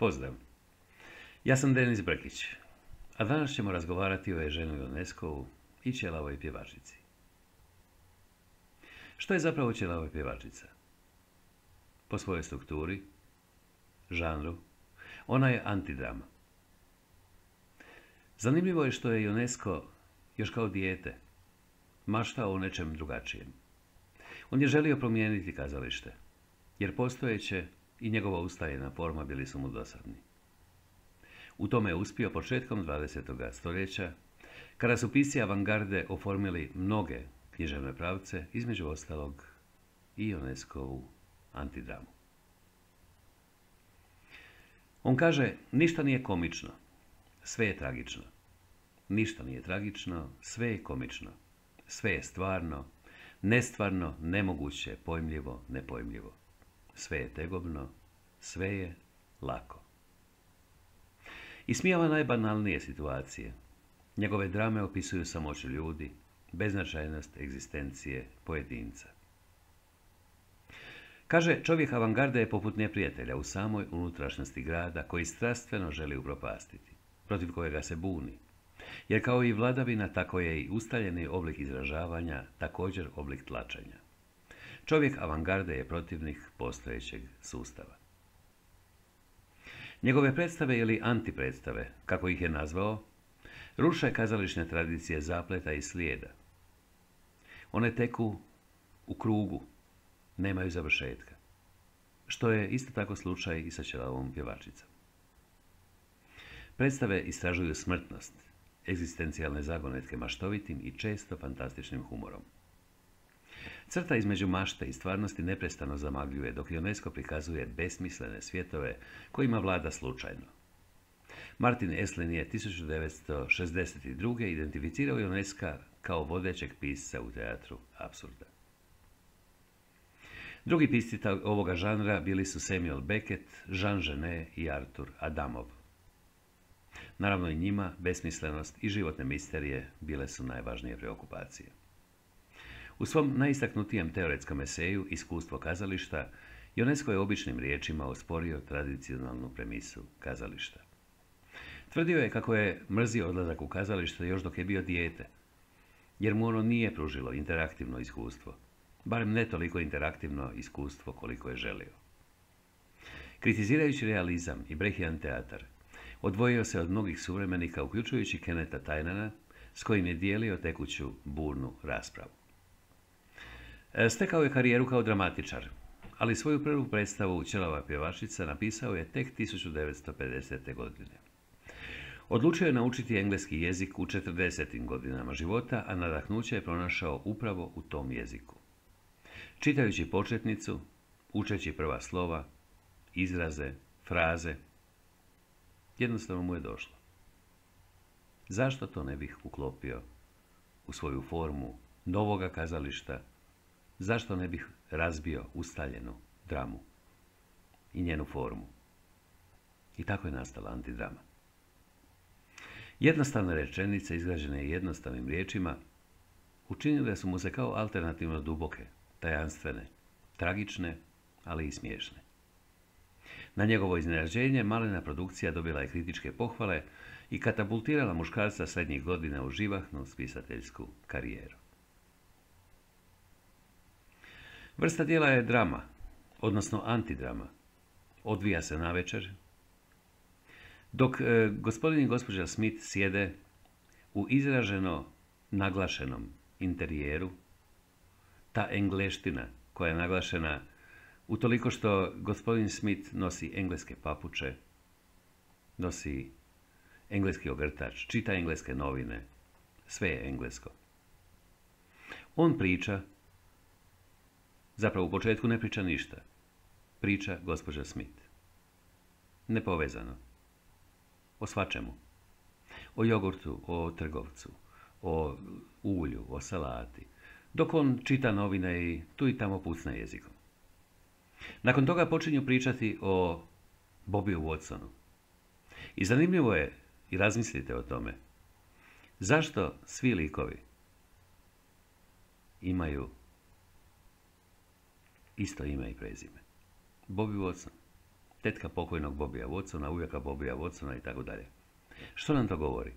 Pozdrav, ja sam Denis Brkić, a danas ćemo razgovarati o Eugeniu Ionescu i Ćelavoj pjevačici. Što je zapravo Ćelava pjevačica? Po svojoj strukturi, žanru, ona je antidrama. Zanimljivo je što je Ionesco još kao dijete maštao o nečem drugačijem. On je želio promijeniti kazalište, jer postojeće i njegova ustaljena forma bili su mu dosadni. U tome je uspio početkom 20. stoljeća, kada su pisci avangarde oformili mnoge književne pravce, između ostalog i Ionescovu antidramu. On kaže, ništa nije komično, sve je tragično. Ništa nije tragično, sve je komično. Sve je stvarno, nestvarno, nemoguće, pojmljivo, nepojmljivo. Sve je tegobno, sve je lako. Ismijava najbanalnije situacije. Njegove drame opisuju samoću ljudi, beznačajnost egzistencije pojedinca. Kaže, čovjek avangarde je poput neprijatelja u samoj unutrašnjosti grada koji strastveno želi upropastiti, protiv kojega se buni. Jer kao i vladavina, tako je i ustaljeni oblik izražavanja također oblik tlačenja. Čovjek avangarde je protivnik postojećeg sustava. Njegove predstave ili antipredstave, kako ih je nazvao, ruše kazališne tradicije zapleta i slijeda. One teku u krugu, nemaju završetka, što je isto tako slučaj i sa Ćelavom pjevačicom. Predstave istražuju smrtnost, egzistencijalne zagonetke maštovitim i često fantastičnim humorom. Crta između mašte i stvarnosti neprestano zamagljuje, dok Ionesco prikazuje besmislene svjetove kojima vlada slučajno. Martin Esslin je 1962. identificirao Ionesca kao vodećeg pisca u teatru apsurda. Drugi pisci ovoga žanra bili su Samuel Beckett, Jean Genet i Arthur Adamov. Naravno i njima besmislenost i životne misterije bile su najvažnije preokupacije. U svom najistaknutijem teoretskom eseju Iskustvo kazališta, Ionesco je običnim riječima osporio tradicionalnu premisu kazališta. Tvrdio je kako je mrzio odlazak u kazalište još dok je bio dijete, jer mu ono nije pružilo interaktivno iskustvo, barem ne toliko interaktivno iskustvo koliko je želio. Kritizirajući realizam i Brechian teatar, odvojio se od mnogih suvremenika, uključujući Kennetha Tynana, s kojim je dijelio tekuću burnu raspravu. Stekao je karijeru kao dramatičar, ali svoju prvu predstavu Ćelava pjevačica napisao je tek 1950. godine. Odlučio je naučiti engleski jezik u 40. godinama života, a nadahnuće je pronašao upravo u tom jeziku. Čitajući početnicu, učeći prva slova, izraze, fraze, jednostavno mu je došlo. Zašto to ne bih uklopio u svoju formu novoga kazališta? Zašto ne bih razbio ustaljenu dramu i njenu formu? I tako je nastala antidrama. Jednostavne rečenice, izgrađene jednostavnim riječima, učinile su mu se kao alternativno duboke, tajanstvene, tragične, ali i smiješne. Na njegovo iznenađenje, malena produkcija dobila je kritičke pohvale i katapultirala muškarca srednjih godina u živahnu spisateljsku karijeru. Vrsta djela je drama, odnosno antidrama. Odvija se navečer, dok gospodin i gospođa Smith sjede u izraženo naglašenom interijeru. Ta engleština koja je naglašena utoliko što gospodin Smith nosi engleske papuče, nosi engleski ogrtač, čita engleske novine, sve je englesko. On priča, zapravo u početku ne priča ništa, priča gospođa Smith. Nepovezano. O svačemu. O jogurtu, o trgovcu, o ulju, o salati, dok on čita novine i tu i tamo pucne jezikom. Nakon toga počinju pričati o Bobbiju Watsonu. I zanimljivo je, i razmislite o tome, zašto svi likovi imaju isto ime i prezime. Bobby Watson. tetka pokojnog Bobija Watsona, ujaka Bobija Watsona i tako dalje. Što nam to govori?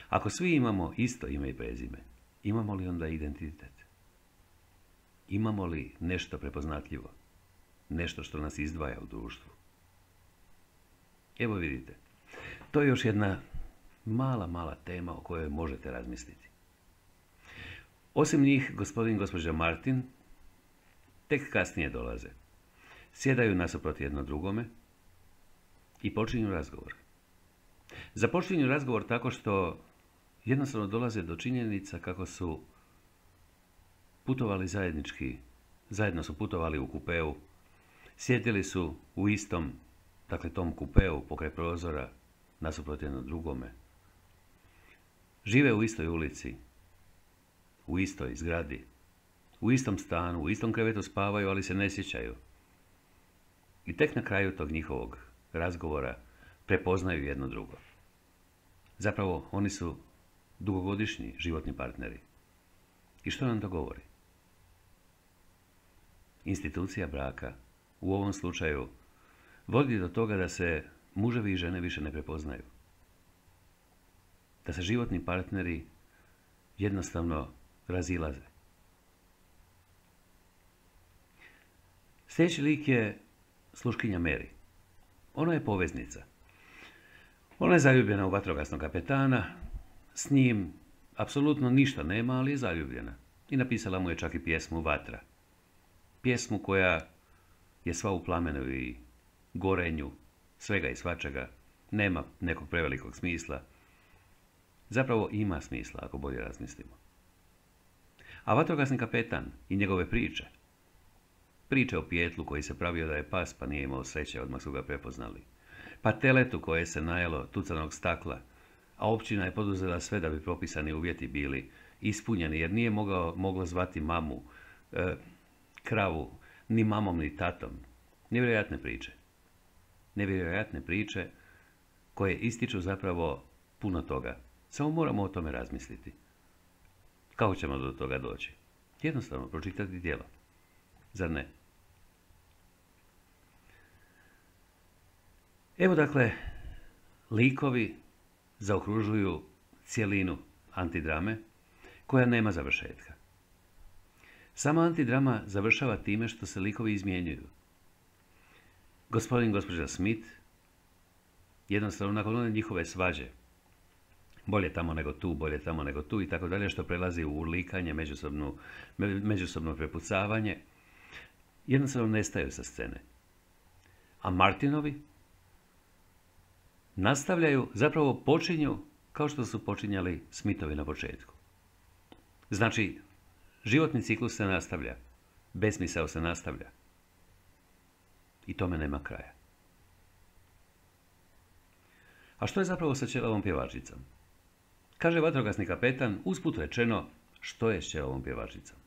Ako svi imamo isto ime i prezime, imamo li onda identitet? Imamo li nešto prepoznatljivo? Nešto što nas izdvaja u društvu? Evo vidite, to je još jedna mala tema o kojoj možete razmisliti. Osim njih, gospodin i gospođa Martin tek kasnije dolaze. Sjedaju nasuprot jedno drugome i počinju razgovor. Započinju razgovor tako što jednostavno dolaze do činjenica kako su putovali zajednički, zajedno su putovali u kupeu, sjedili su u istom, dakle tom kupeu pokraj prozora, nasuprot jedno drugome. Žive u istoj ulici, u istoj zgradi, u istom stanu, u istom krevetu spavaju, ali se ne sjećaju. I tek na kraju tog njihovog razgovora prepoznaju jedno drugo. Zapravo, oni su dugogodišnji životni partneri. I što nam to govori? Institucija braka, u ovom slučaju, vodi do toga da se muževi i žene više ne prepoznaju. Da se životni partneri jednostavno razilaze. Sljedeći lik je sluškinja Mary. Ona je poveznica. Ona je zaljubljena u vatrogasnog kapetana, s njim apsolutno ništa nema, ali je zaljubljena. I napisala mu je čak i pjesmu Vatra. Pjesmu koja je sva u plamenu i gorenju, svega i svačega, nema nekog prevelikog smisla. Zapravo ima smisla, ako bolje razmislimo. A vatrogasni kapetan i njegove priče. Priče o Pijetlu koji se pravio da je pas, pa nije imao sreće, odmah su ga prepoznali. Pa teletu koje se najelo tucanog stakla, a općina je poduzela sve da bi propisani uvjeti bili ispunjeni, jer nije moglo zvati mamu, kravu, ni mamom, ni tatom. Nevjerojatne priče. Nevjerojatne priče koje ističu zapravo puno toga. Samo moramo o tome razmisliti. Kako ćemo do toga doći? Jednostavno pročitati djelo. Zar ne? Evo dakle, likovi zaokružuju cjelinu antidrame koja nema završetka. Sama antidrama završava time što se likovi izmjenjuju. Gospodin i gospođa Smith jednostavno nakon one njihove svađe, bolje tamo nego tu, bolje tamo nego tu i tako dalje, što prelazi u urlikanje, međusobno prepucavanje, jednostavno nestaju sa scene. A Martinovi nastavljaju, zapravo počinju kao što su počinjali Smithovi na početku. Znači, životni ciklus se nastavlja, besmisao se nastavlja. I tome nema kraja. A što je zapravo sa ćelavom pjevačicom? Kaže vatrogasni kapetan, usput rečeno, što je s ćelavom pjevačicom?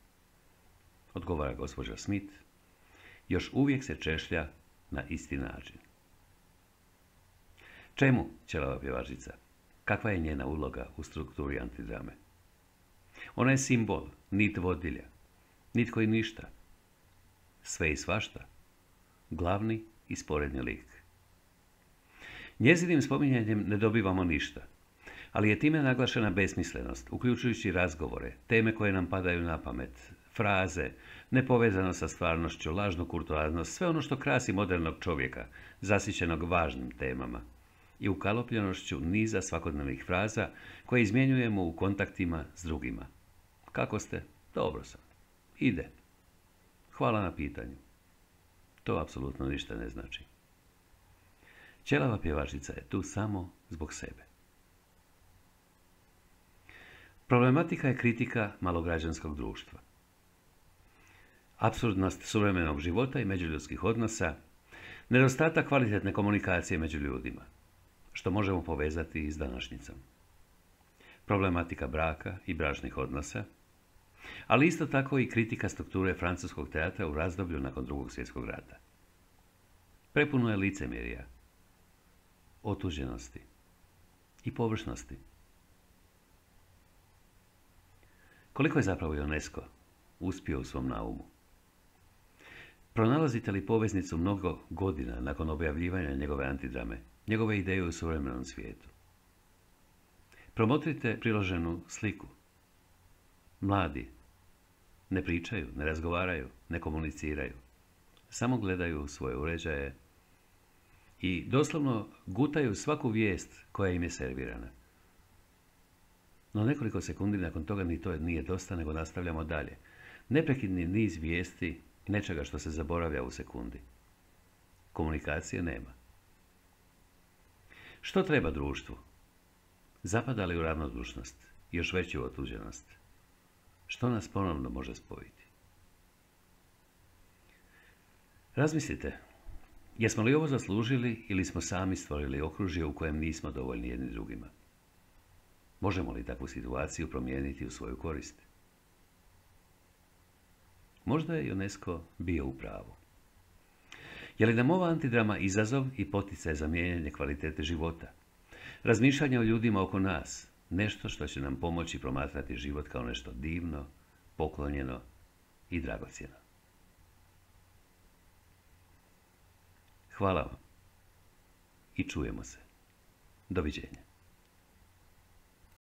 Odgovara gospođa Smith, još uvijek se češlja na isti način. Čemu ćelava pjevačica? Kakva je njena uloga u strukturi antidrame? Ona je simbol, nit vodilja, nitko i ništa, sve i svašta, glavni i sporedni lik. Njezinim spominjanjem ne dobivamo ništa, ali je time naglašena besmislenost, uključujući razgovore, teme koje nam padaju na pamet, fraze, nepovezano sa stvarnošću, lažnu kurtoaznost, sve ono što krasi modernog čovjeka, zasićenog važnim temama, i ukalopljenošću niza svakodnevnih fraza koje izmjenjujemo u kontaktima s drugima. Kako ste? Dobro sam. Ide. Hvala na pitanju. To apsolutno ništa ne znači. Ćelava pjevačica je tu samo zbog sebe. Problematika je kritika malograđanskog društva. Apsurdnost suvremenog života i međuljudskih odnosa, nedostatak kvalitetne komunikacije među ljudima, što možemo povezati i s današnjicom. Problematika braka i bračnih odnosa, ali isto tako i kritika strukture francuskog teatra u razdoblju nakon Drugog svjetskog rata. Prepuno je licemjerja, otuđenosti i površnosti. Koliko je zapravo UNESCO uspio u svom naumu? Pronalazite li poveznicu mnogo godina nakon objavljivanja njegove antidrame, njegove ideje u suvremenom svijetu? Promotrite priloženu sliku. Mladi ne pričaju, ne razgovaraju, ne komuniciraju. Samo gledaju svoje uređaje i doslovno gutaju svaku vijest koja im je servirana. No nekoliko sekundi nakon toga ni to nije dosta, nego nastavljamo dalje. Neprekidni niz vijesti, nečega što se zaboravlja u sekundi. Komunikacije nema. Što treba društvu? Zapada li u ravnodušnost, još veću otuđenost? Što nas ponovno može spojiti? Razmislite, jesmo li ovo zaslužili ili smo sami stvorili okružje u kojem nismo dovoljni jedni drugima? Možemo li takvu situaciju promijeniti u svoju korist? Možda je UNESCO bio u pravu. Je li nam ova antidrama izazov i poticaj za mijenjanje kvalitete života? Razmišljanje o ljudima oko nas, nešto što će nam pomoći promatrati život kao nešto divno, poklonjeno i dragocjeno. Hvala vam i čujemo se. Doviđenja.